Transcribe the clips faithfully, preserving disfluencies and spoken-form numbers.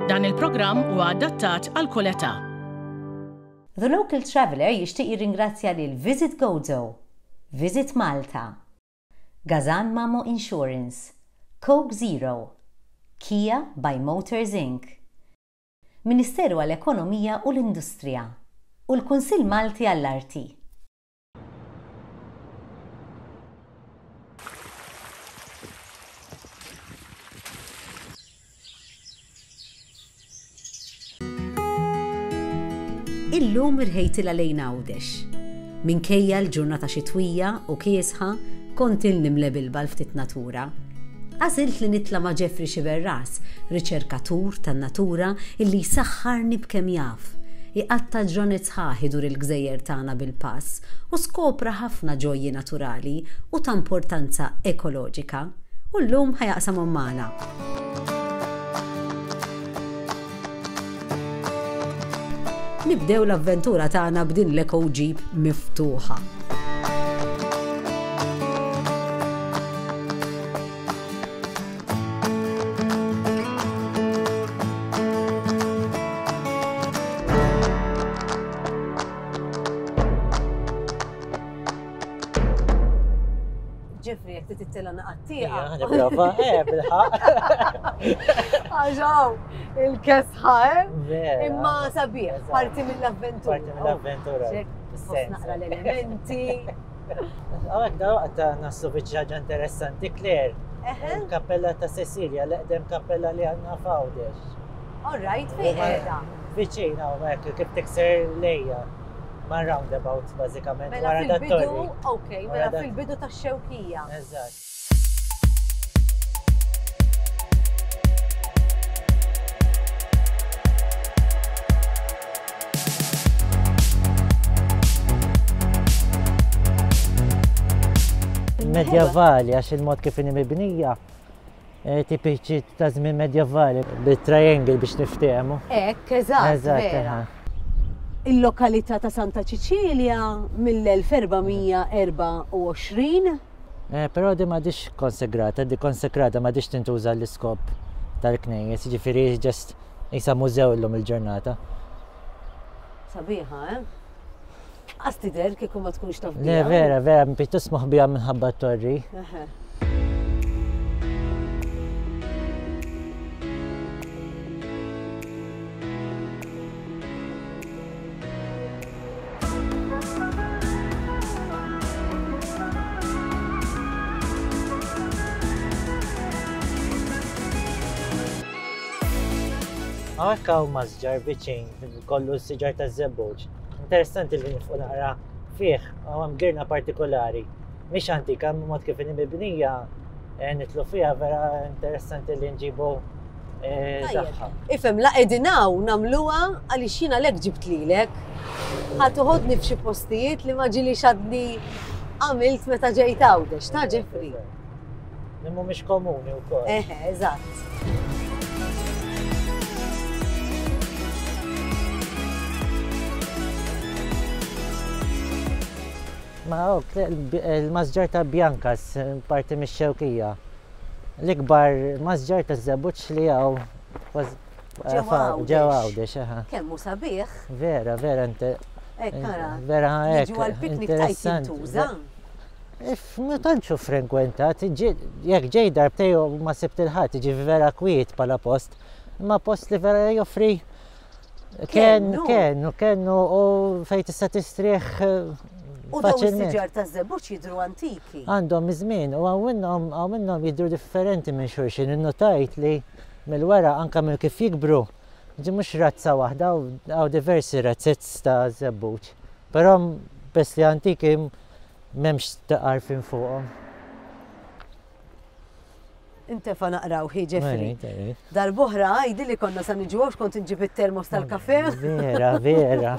Dan il-programm huwa adattat għal kull età. The Local Traveller jixtieq jirringrazzja lil Visit Gozo, Visit Malta, Gazan Mamo Insurance, Coke Zero, Kia by Motors Incorporated, Ministeru għall-Ekonomija u l-Industrija u l-Kunsill Malti għall-Arti. Illum irħejtilha lejn Għawdex. Minkejja l-ġurnata xitwija u kiesħa, kont ilni mlebilba l-ftit natura. Għażilt li nitla' ma' Jeffrey Sciberras, riċerkatur tan-natura illi jsaħħarni b'kemm jaf. Iqatta' ġranet sħaħ idur il-gżejjer tagħna bil-pass u skopra ħafna ġojji naturali u ta' importanza ekoloġika. U llum ħajaqsamhom magħna. Nibdew l-avventura tagħna b'din l-Eco Jeep miftuħa. Jeffrey, jekk titla' naqattieqa. Nipprova, eh, bilħaq. Għaxaw, il-kesħa, eh? Vera. Imma sabiħ, Eżatt. parti mill-avventura. Parti mill-avventura. Ċek, Sens. naqra l-elementi. Għawek da waqt ta' naslu biex ħaġa interessanti, Claire. Eħe, Il-kappella ta' Cecilia, l-eqdem kappella li għandna f'Għawdex. all right, fejn qiegħda? Viċin hawnhekk kif tikser lejja. Ma' roundabout bażikament Mela wara dat fil-bidu, torri. ok, mela Wara dat- fil-bidu tax-xewkija. Eżatt. Medjavali, għax il-mod kif inhi mibnija, eh, tipiċi ta' żmien medjavali, bit-triangle biex niftehmu. Ekk, eżatt, Eżatt, vera. aha. Il-lokalità ta' Santa Ċiċilja mill-elf erba' mija erba' u għoxrin. Eh, Però di m'għadix konsegrata, di konsegrata m'għadix tintuża l-iskop tal-knejjes, jiġifieri just isa mużew illum il-ġurnata. Sabiħa, eh? Għas tidher kieku ma tkunx taf Le, biha. vera, vera, pjuttost moħbija minħabba t-torri. Eħe. Hawnhekk hawn masġar viċin, kollu s-siġar taż-żebbuġ. Interessanti li nifqu naqra fih, hawn hemm girna partikolari. Mhix antika, mod kif inhi mibnija, eh, nitlu fiha vera interessanti li nġibu eh, Tajjeb. tagħha. Ifhem, la qegħdin hawn nagħmluha għaliex jiena lek ġibt lilek. Ħa toħodni f'xi postijiet li ma ġieli xadni għamilt meta ġejt Għawdex, ta' Jeffrey. Li mhumiex komuni wkoll. Eħe, eżatt. Ma ok, il-masġar ta' Biankas, parti mix-xewkija. L-ikbar masġar ta' żebbuġ li hawn Ġewwa ġewwa Għawdex. Għawdex, aha. Kemm hu sabiħ. Vera, vera, inte- Hekk ara. vera hekk. Jiġu għall-piknik tajt interessanti. jintuża. If ma tantx hu frekwentat, ġi- jekk ġej darbtej u ma sibt il-ħadd, jiġi vera kwiet bħala post, imma post li vera joffri ken, Kennu. kennu, kennu u fejn tista' tistrieħ eh, U dawn faċilment. is-siġar taż-żebbuġ jidhru antiki. Għandhom iż-żmien u hawn minnhom hawn minnhom jidhru differenti minn xulxin. Innotajt li mill-wara anke minn kif jikbru, ġi mhux razza waħda hawn diversi razzett ta' żebbuġ. Però bes li antiki m'hemmx taqarfin fuqhom. Intefa naqraw hi Jeffrey. Mela, Darb'oħra għajdi li konna sa niġu għax kont inġib it-termos tal-kafe. Vera, vera.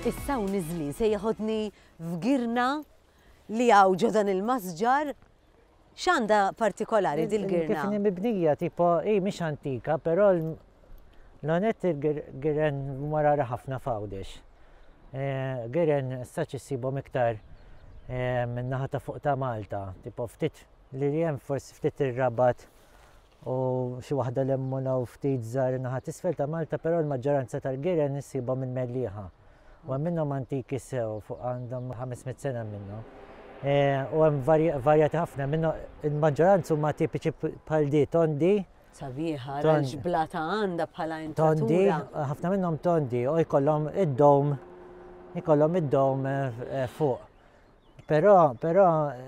Issa u niżlin se jeħodni f'girna li hawn ġo dan il-masġar. X'għandha partikolari dil-girna? Kif mibnija, tipo, i mhix antika, però l-onet il-giren marara ħafna f'Għawdex. Giren saċ issibhom iktar min-naħa ta' fuq ta' Malta, tipo ftit li hemm forsi ftit ir-Rabat u xi waħda l-Emmuna u ftit żgħar in-naħa t'isfel ta' Malta, però l-maġġoranza tal-giren issibhom minn Mellieħa. U hemm minnhom antiki sew fuq għandhom ħames mitt sena minnhom. U hemm varjati ħafna minnhom, il-maġġoranza huma tipiċi bħal di tondi. Sabiħa, l-ġblata għandha bħala intratura. Tondi, ħafna minnhom tondi u jkollhom id-dom, jkollhom id-dom fuq. Però, però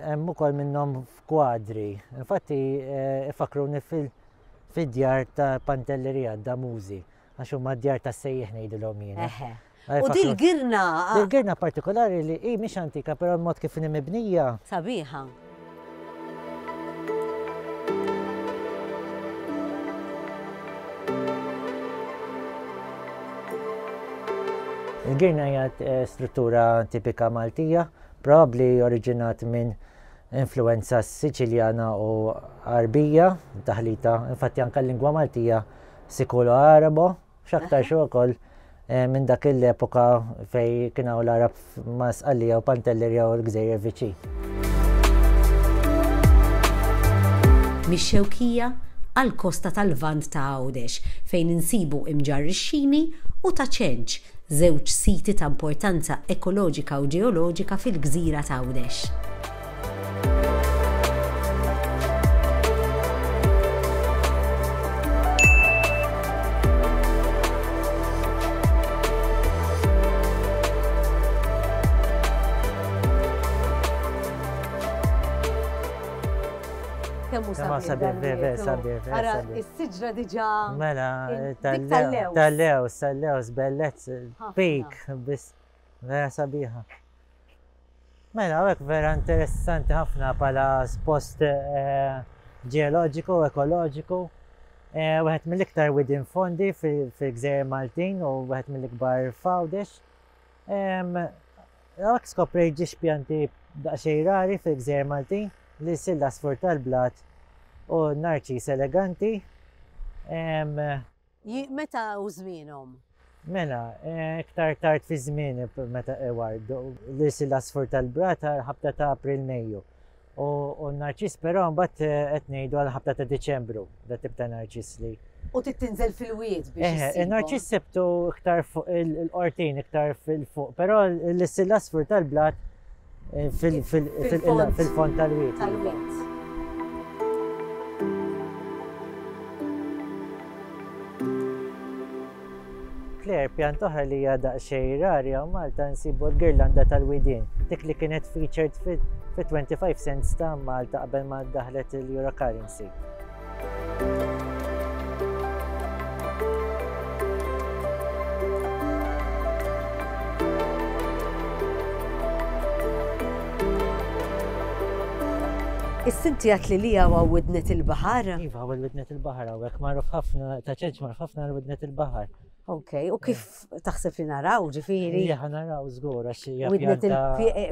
hemm ukoll minnhom f'kwadri. Infatti ifakruni fid-djar ta' Pantelleria, Damużi, għax huma d-djar ta' sejjeħ ngħidilhom jiena. U dil-girna. Dil-girna partikolari li hi mhix antika, però l-mod kif inhi mibnija. Sabiħa. Il-girna hija struttura tipika Maltija, probabbli oriġinat minn influenza Siċiljana u Arbija, taħlita, infatti anke l-lingwa Maltija Sikulo-Arabo, x'aktar xi wkoll minn dak l-epoka fej kien hawn l-Arab ma' Sqallija u Pantelleria u l-Gżejjer viċin. Mix-Xewkija għall-kosta tal-Lvant ta' Għawdex fejn insibu Imġarr ix-Xini u ta' Ċenċ, żewġ siti ta' importanza ekoloġika u ġeoloġika fil-gżira ta' Għawdex. Kemm hu sabiħ, sabiħ, sabiħ. Ara, is-siġra diġà. Mela, tal-lews, tal-lews, tal-lews, bellezz, pik, biss vera sabiħa. Mela, hekk vera interessanti ħafna bħala post ġeoloġiku, ekoloġiku. Wieħed mill-iktar widien fondi fil-Gżejjer Maltin u wieħed mill-ikbar f'Għawdex. Hekk skoprejt ġiex pjanti daqsxejn rari fil-Gżejjer Maltin, li silla sfur tal-blat u narċis eleganti. Meta u żmienhom? Mela, iktar tard fi żmien meta ewardu li silla sfur tal-blat ħabta ta' April Mejju. U narċis però mbagħad qed ngħidu għal ħabta ta' Diċembru, da tip ta' narċis li. U titinżel fil-wied biex. Eħe, narċis sebtu iktar fuq il-qortin, iktar fil-fuq, però l-silla sfur tal-blat fil-fond tal-wied. Tal-wied. Claire, pjanta oħra li hija daqsxejn rari hawn Malta nsibu l-girlanda tal-widien, dik li kienet featured fi twenty-five cents ta' Malta qabel ma daħlet il-Euro currency. Is-sinti għat li li għaw widnet il-bahar? Iva, għaw widnet il-bahar, għawek marruf ħafna, ta' ċenċ marruf ħafna widnet il-bahar. Ok, u kif taħseb li naraw, ġifiri? Ija, naraw, żgur, għax hija pjanta.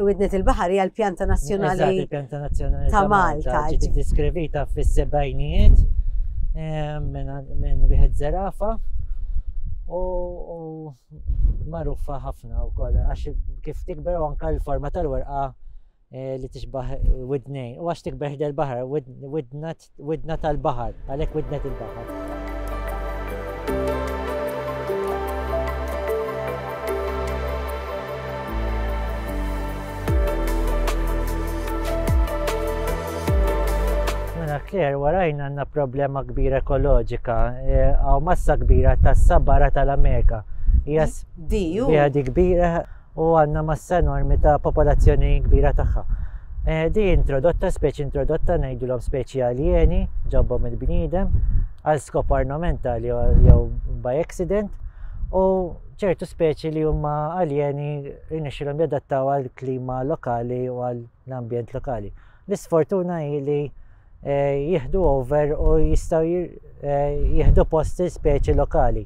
Widnet il-bahar hija l-pjanta nazzjonali. Eżatt, il-pjanta nazzjonali ta' Malta. Ġiet diskrivita fis-sebgħinijiet minn wieħed żerafa u magħrufa ħafna wkoll għax kif tikber u anke l-forma tal-werqa li tixbaħ widnejn, u għax tikber ħdejn il-baħar, widna tal-baħar, għalhekk widnet il-baħar. Mela Claire, warajna għandna problema kbira ekoloġika, għaw massa kbira tas-sabara tal-Amerika. Hija di kbira u għandna massa enormi ta' popolazzjoni kbira tagħha. Di introdotta, speċi introdotta, ngħidulhom speċi aljeni, ġabhom il-bniedem, għal skop ornamentali jew by accident, u ċertu speċi li huma aljeni rnexxilhom jadattaw għal klima lokali u għal l-ambjent lokali. L-isfortuna hi li jieħdu over u jistgħu jieħdu post speċi lokali.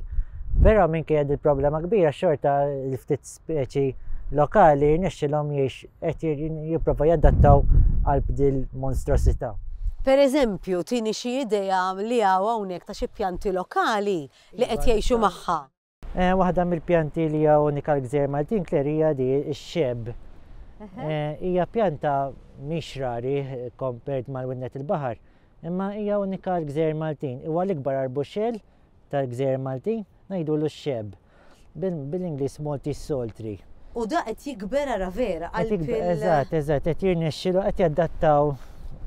Però minkejja il problema kbira xorta l-ftit speċi lokali rnexxilhom jgħix qed jipprova jadattaw għal dil monstrosità. Per eżempju, tini xi idea li hawn hawnhekk ta' xi pjanti lokali li qed jgħixu magħha. Waħda mill-pjanti li hija unika l-Gżejjer Maltin, Claire, hija di x-xebb. Hija pjanta mhix rari compared mal-widnet il-baħar, imma hija unika l-Gżejjer Maltin. Huwa l-ikbar arbuxell tal-Gżejjer Maltin, ngħidulu x-xebb. Bil-Ingliż Maltese Salt Tree. U da qed jikber ara vera qalb. Eżatt, eżatt, qed jirnexxilu, qed jadattaw,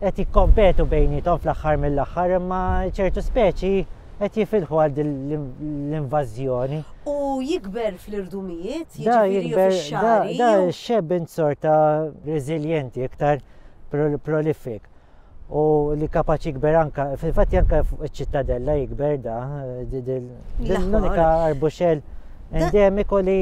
qed jikkompetu bejniethom fl-aħħar mill-aħħar, imma ċertu speċi qed jifilħu għal l-invażjoni. U jikber fl-irdumijiet, jiġifieri fix-xagħri. Da x-xebb sorta reżiljenti, iktar prolific. U li kapaċi jikber anka, fil-fatt anka iċ-Ċittadella jikber da, l-unika arbuxell endemiku li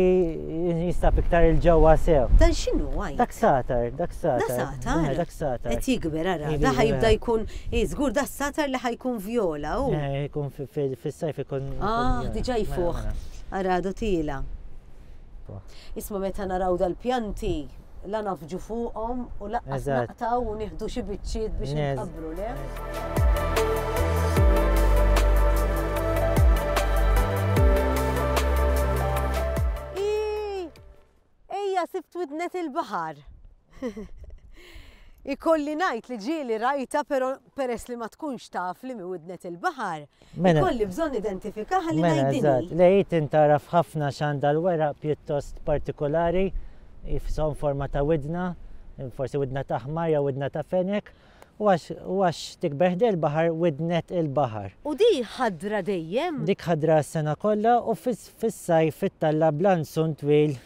jinstab iktar il-ġewwa sew. Dan x'inhu għaj? Dak satar, dak satar. Da satar? Dak satar. Qed jikber ara, da ħajibda jkun, żgur da satar li ħajkun vjola u. Jkun fis-sajf ikun. Ah, diġà jfuħ. Ara għadu tila. Isma' meta naraw dal-pjanti, la nafġu fuqhom u laqqas naqtaw u nieħdu xi biċċiet biex nqabbru, le? Ejja sibt widnet il-baħar. Ikolli ngħid li ġieli rajta, però peress li ma tkunx taf li mi widnet il-baħar, ikolli bżonn identifikaha li ngħid din. Le hi tintaraf ħafna x'għandha l-weraq pjuttost partikolari, jifsom forma ta' widna, forsi widna ta' ħmar jew widna ta' fenek, u għax tikber ħdejn il-baħar widnet il-baħar. U di ħadra dejjem? Dik ħadra s-sena kollha u fis-sajf ittalla blanzun twil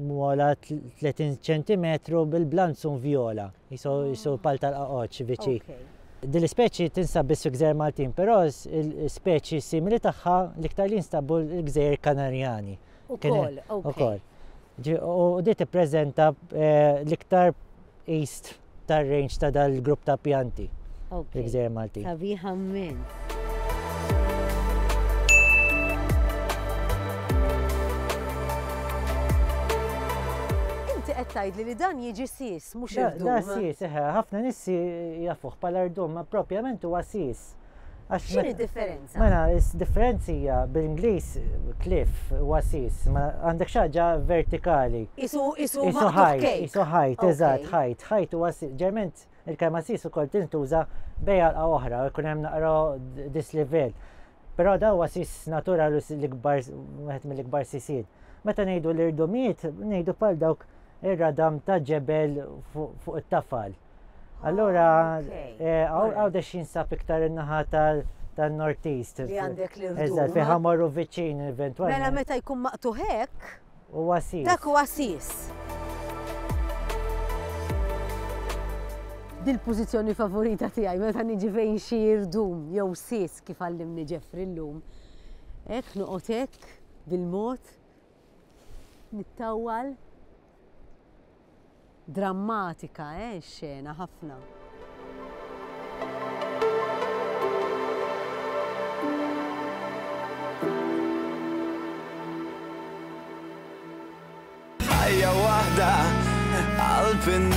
mola tletin ċentimetru bil-blanzun vjola, jisu pal tal-qaqoċ viċi. Din l-ispeċi tinsab biss fil-Gżejjer Maltin, però l-ispeċi simili tagħha l-iktar li jinstabu l-Gżejjer Kanarjani. Ukoll, ok. U di tippreżenta l-iktar east tar-range ta' dal-grupp ta' pjanti fil-Gżejjer Maltin. Sabiħa immens. Inti qed tgħidli li dan jiġi sis, mhux irdum. Da sis, eħe, ħafna nies jafuh bħala rdum, ma propjament huwa sis. X'inhi d-differenza? Mela, differenza hija bil-Ingliż cliff huwa sis, ma għandek xi ħaġa vertikali. Isu isu ħajt, isu ħajt, eżatt, ħajt, ħajt huwa sis. Ġerment il-kelma sis ukoll tintuża bejn għalqa oħra, jkun hemm naqra dislevel. Però da huwa sis naturali l-ikbar wieħed mill-ikbar sisiet. Meta ngħidu l-irdumijiet, ngħidu bħal dawk ir-radam ta' ġebel fuq it-tafal. Allura, Għawdex jinsab iktar in-naħa tan-North East. Li għandek l-irdum. Eżatt, fejn ħamorru viċin eventwalment. Mela meta jkun maqtuħ hekk, Huwa sis. Dak huwa sis. Dil-pożizzjoni favorita tiegħi meta niġi fejn xi irdum jew sis kif għallimni Jeffrey llum. Hekk noqgħod hekk bil-mod nittawwal. Drammatika, eh, xena ħafna. Ħajja waħda qalb in